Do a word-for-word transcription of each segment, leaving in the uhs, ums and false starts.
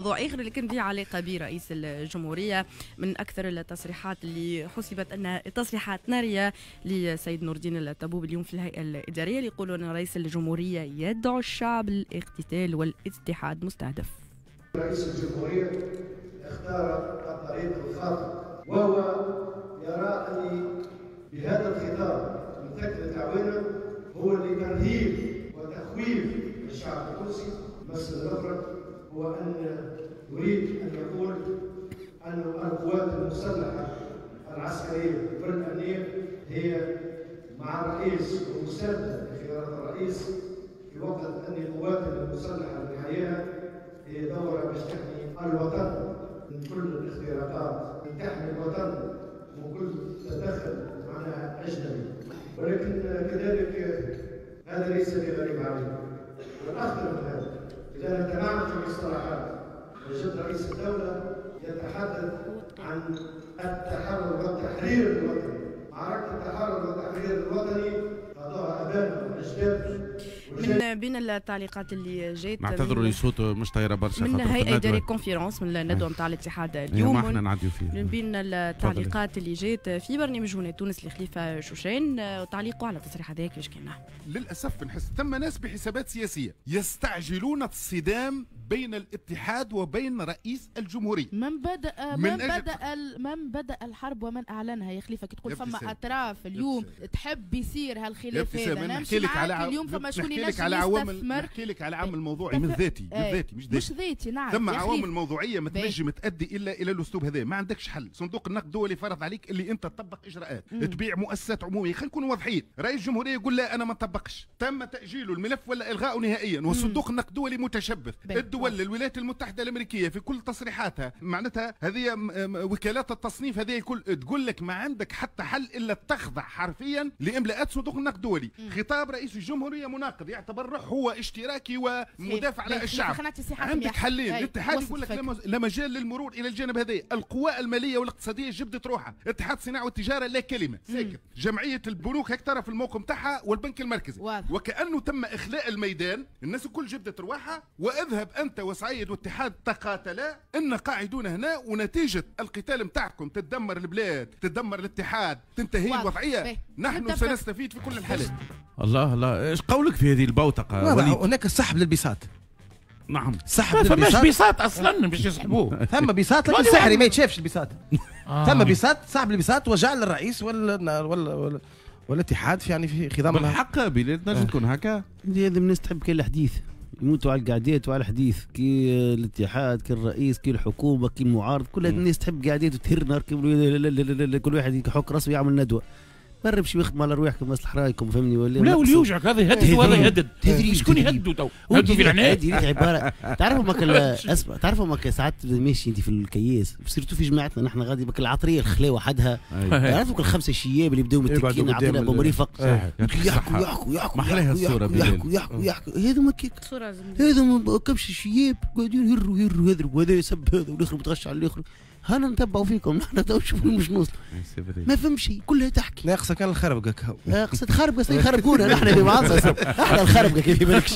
موضوع آخر لكن ذي علاقة برئيس الجمهورية، من أكثر التصريحات اللي حسبت أنها تصريحات نارية لسيد نور الدين الطبوبي اليوم في الهيئة الإدارية، اللي يقولوا أن رئيس الجمهورية يدعو الشعب للاقتتال والاتحاد مستهدف. رئيس الجمهورية اختار الطريق الخاطئ، وهو يرى أن بهذا الخطاب من ثكنة عوانة هو لترهيب وتخويف الشعب التونسي. المسألة الأخرى هو أن يريد أن يقول أن القوات المسلحة العسكرية والأمنية هي مع الرئيس ومساندة لخيارات الرئيس، في وقت أن القوات المسلحة اللي حياها هي دورة باش تحمي الوطن من كل الاختراقات، من تحمي الوطن من كل تدخل معناها أجنبي. ولكن كذلك هذا ليس بغريب عليه، والأخطر من هذا إذا نتمعن في المصطلحات وجد رئيس الدولة يتحدث عن التحرر والتحرير الوطني. معركة التحرر والتحرير الوطني قضاها أبانا وأجدادنا. من بين التعليقات اللي جات، نعتذروا لصوته مش طايره برشا، من هيئة إدارية conférence من الندوة نتاع الاتحاد اليوم، ما احنا نعديو فيه. من بين التعليقات اللي جات في برنامج هنا تونس لخليفه شوشان، تعليقه على التصريح هذاك كيفاش كان. للاسف نحس ثم ناس بحسابات سياسية يستعجلون الصدام بين الاتحاد وبين رئيس الجمهورية. من بدا من, من بدا من بدا الحرب ومن اعلنها يا خليفة، كي تقول فما اطراف اليوم تحب يصير هالخلاف هذا. انا نحكي لك على اليوم فما شكون نحكي لك على عوامل، نحكي لك على عامل موضوعي مش ذاتي، مش ذاتي مش ذاتي مش ذاتي نعم. ثم عوامل موضوعية ما تنجم تؤدي الا الى الاسلوب هذا. ما عندكش حل، صندوق النقد الدولي فرض عليك اللي انت تطبق اجراءات، مم. تبيع مؤسسات عموميه. خلينا نكونوا واضحين، رئيس الجمهورية يقول لا انا ما نطبقش، تم تاجيل الملف ولا الغائه نهائيا، وصندوق النقد الدولي متشبث. الدول الولايات المتحدة الامريكية في كل تصريحاتها معناتها هذه وكالات التصنيف هذه الكل تقول لك ما عندك حتى حل الا تخضع حرفيا لاملاءات صندوق النقد الدولي. خطاب رئيس الجمهورية مناقض، يعتبر روح هو اشتراكي ومدافع على الشعب. عندك حلين، الاتحاد يقول لك لا مجال للمرور الى الجانب هذا، القوى المالية والاقتصادية جبدت روحها، اتحاد الصناعة والتجارة لا كلمة ساكت، جمعية البنوك هيك ترى في الموقف نتاعها والبنك المركزي، واضح. وكانه تم اخلاء الميدان، الناس الكل جبدت رواحها، واذهب انت وسعيد والاتحاد تقاتلا، ان قاعدون هنا، ونتيجة القتال نتاعكم تتدمر البلاد، تتدمر الاتحاد، تنتهي الوضعية. نحن سنستفيد في كل الحالات. الله الله، ايش قولك في هذه البوتقه؟ هناك سحب للبساط. نعم، سحب ما للبساط. فماش بساط اصلا باش يسحبوه. ثم بساط لكن سحري ما يتشافش البساط. ثم بساط، سحب البساط وجعل الرئيس وال وال والاتحاد في يعني في خضم. بالحق بلاد تنجم تكون هكا. هذه الناس تحب كل الحديث، يموتوا على القعدات وعلى الحديث، كي الاتحاد كي الرئيس كي الحكومة كي المعارض، كل هذه الناس تحب قعدات وتهر نهار كل واحد يحك راسه ويعمل ندوه. برب شي يخدم على رواحكم مصلح رايكم، فهمني ولا لا؟ واللي يوجعك هذا يهدد وهذا يهدد، شكون يهددوا تو؟ هددوا في العناد. هذه عبارة تعرفوا ماك اسمع، تعرفوا ماك ساعات ماشي انت في الكياس، surtout في جماعتنا نحن غادي بك العطريه الخلاوه وحدها، تعرفوا كل خمسة شياب اللي بداو متكين عطينا بمريفق يحكوا يحكوا يحكوا يحكوا يحكوا يحكوا يحكوا، هذوما كيك هذوما كبش شياب قاعدين يهروا يهروا يهروا، وهذا يسب هذا والاخر متغش على الاخر. هانا نتبعوا فيكم نحن تو نشوفوا مش نوصل، ما فهم شيء، كلها تحكي. ناقصه كان الخربقه كهو، ناقصه خربقه، يخربقونا نحن في بعضنا، احنا الخربقه كيف بالكش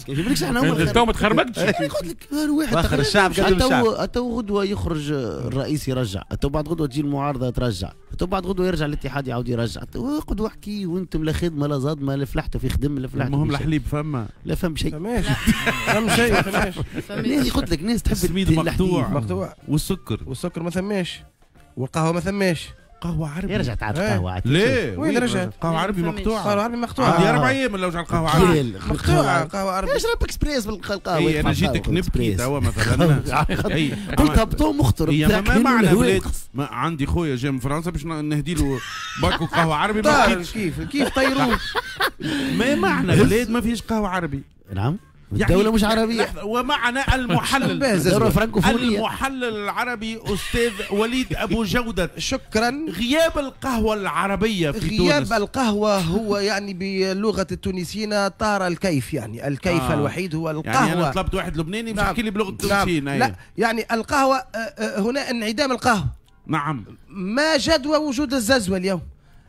كيف بالكش احنا هما تو ما تخربقتش. قلت لك واحد اخر الشعب قدم الشعب. تو غدوه يخرج الرئيس يرجع، تو بعد غدوه تجي المعارضة ترجع، تو بعد غدوه يرجع الاتحاد يعاود يرجع، اقعدوا احكي وانتم لا خدمة لا صدمة لا فلحتوا في خدم لا فلحتوا. المهم الحليب فما لا فهم شيء، فماش فهم شيء، فماش. قلت لك ناس تحب السميد مقطوع مقطوع والسكر والسكر ما ثماش، والقهوة ما ثماش. قهوة عربي رجعت عاد قهوة عاد. ليه؟ وين رجعت؟ قهوة عربي مقطوعة. قهوة عربي مقطوعة. عندي أربع أيام ولا وجع القهوة عربي. مقطوعة قهوة عربي. اشرب اكسبريس بالقهوة. إيه أنا جيتك نبكي توا مثلا. قلت هبطوا مخطر. ما معنى بلاد ما عندي خويا جاي من فرنسا باش نهدي له باكو قهوة عربي. كيف كيف طيروه؟ ما معنى بلاد ما فيش قهوة عربي؟ نعم. الدولة مش عربية. ومعنا المحلل المحلل العربي أستاذ وليد أبو جودة. شكرا. غياب القهوة العربية في غياب تونس. غياب القهوة هو يعني بلغة التونسيين طار الكيف، يعني الكيف آه. الوحيد هو القهوة. يعني أنا طلبت واحد لبناني باش يحكي لي بلغة التونسيين. نعم. لا يعني القهوة هنا انعدام القهوة. نعم. ما جدوى وجود الززوة اليوم؟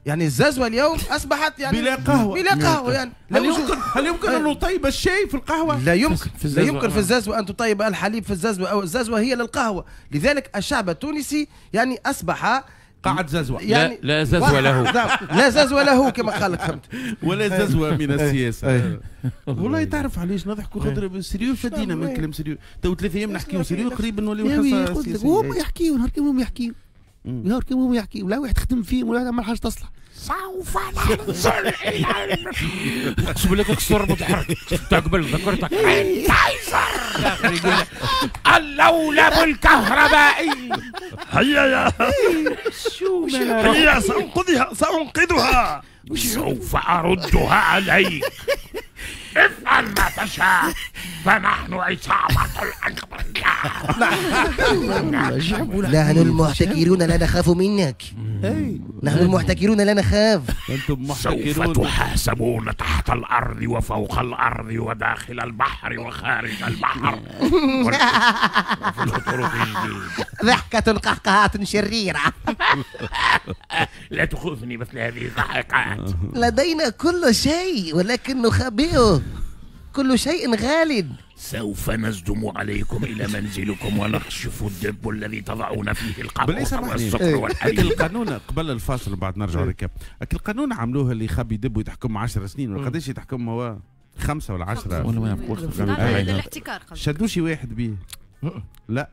يعني الززوه اليوم اصبحت يعني بلا قهوة، بلا قهوة يعني. هل يمكن هل يمكن ان نطيب الشاي في القهوة؟ لا يمكن، لا يمكن في الززوه ان تطيب الحليب في الززوه، او الززوه هي للقهوة. لذلك الشعب التونسي يعني اصبح قاعد ززوة، يعني لا, لا ززوة له، لا ززوة له كما قال لك، فهمت؟ ولا ززوة من السياسة. والله تعرف علاش نضحكوا؟ خاطر sérieux فدينا من كلام sérieux، تو ثلاث ايام نحكيو sérieux قريب نوليو حصة سياسية. هما يحكيو نهار كامل، هما يحكيو نهار كامل، هما يحكيو، لا واحد خدم فيهم ولا واحد عمل حاجة تصلح. سوف ننزل الى اقسم لك اكسر متحرك تاع قبل ذكرتك تايزر يقول اللولب الكهربائي. هيا يا شو هيا سأنقذها سأنقذها سوف أردها عليك، افعل ما تشاء فنحن عصابة الأكبر. نحن المحتكرون لا نخاف منك، نحن المحتكرون لا نخاف. أنتم محتكرون. سوف تحاسبون تحت الأرض وفوق الأرض وداخل البحر وخارج البحر وفي الطرق الجديدة. ضحكة قهقهات شريرة. لا تخوفني مثل هذه الضحكات. لدينا كل شيء ولكن نخبئه، كل شيء غال. سوف نزدم عليكم إلى منزلكم ونخشف الدب الذي تضعون فيه القهوة والسكر والحليب. القانون قبل الفاصل بعد نرجع ركاب، القانون عملوه اللي يخبي دب ويتحكم عشر سنين ولا قداش يتحكم هو؟ خمسة ولا عشرة ولا ما الاحتكار. شدوشي واحد بيه؟ لا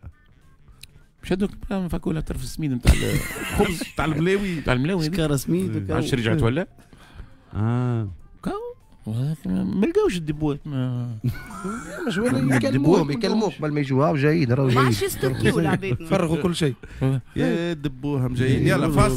شدوا فكوا طرف السميد نتاع الخبز نتاع الملاوي، نتاع الملاوي شكاره سميد. عادش رجعت ولا؟ اه ما لقاوش الدبوات. ما مش يكلموهم يكلموك قبل ما يجوا جايين، راهو ما جايين عادش يستوكيو العباد، فرغوا كل شيء. يا دبوهم جايين. يلا فاصل.